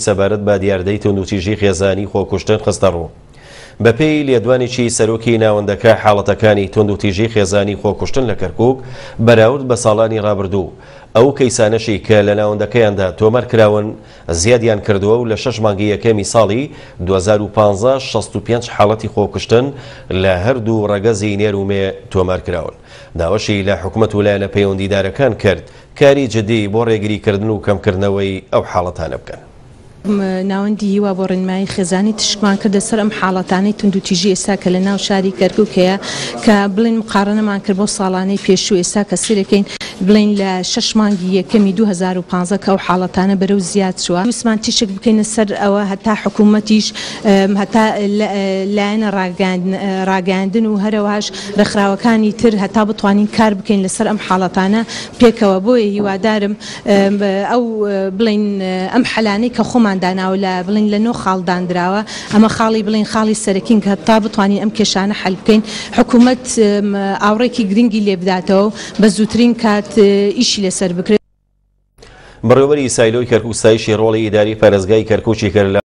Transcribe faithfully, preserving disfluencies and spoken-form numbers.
سەبارەت بە دیاردەی توندوتیژی خێزانی خۆکوشتن خستەڕوو. بەپێی لێدوانێکی سەرۆکی ناوەندەکە، حاڵەتەکانی توندوتیژی خێزانی خۆکوشتن لە کەرکوک بەراورد بە ساڵانی ڕابردوو، ئەو کەیسانەشی کە لە ناوەندەکەیاندا تۆمار کراون زیادیان کردووە و لە شەش مانگی یەکەمی ساڵی دوو هەزار و پازدە شەست و پێنج حاڵەتی خۆکوشتن لە هەردوو ڕەگەزی نێر و مێ تۆمار کراون. داوەشی لە حکومەت و لایەنە پەیوەندیدارەکان کرد کاری جدی بۆ ڕێگریکردن و کەمکردنەوەی ئەو حاڵەتانە بکەن. ناوەندی هیوا بۆ ڕێنمایی خێزانی تشکمان کردە سەر ئەم حاڵەتانەی توندوتیژی ئێستا کە لە ناو شاری کەرکوک هەیە، کە بڵێن مقارنەمان کرد بۆ ساڵانەی پێشوو. ئێستا کە سیرەکەین بڵێن لە شەش مانگی یەکەمی دوو هەزار و پازدە کە ئەو حاڵەتانە بەرەو زیاد چووە. ویستمان تیشک بکەینە سەر ئەوە هەتا حکوومەتیش، هەتا لایەنە ڕاگەیاندن و هەرەوەش ڕێکخراوەکانی تر هەتا بتوانین کار بکەین لەسەر ئەم حاڵەتانە پێکەوە. بۆیە هیوادارم ئەو بڵێن ئەم حەلانەی کە خۆمان داناوە لە بڵین لە نۆ خاڵ دانراوە، ئەمە خاڵی بڵین خاڵی سەرەکین کە تا بتوانین ئەم کێشانە حەل بکەین، حکوومەت ئاوڕێکی گرنگی لێ بداتەوە بە زووترین کات ئیشی لەسەر بکرێت. بەڕێوەبەری سایلۆی کەرکوک ستایشی ڕۆڵی ئیداری پارێزگای کەرکوکی کرد لە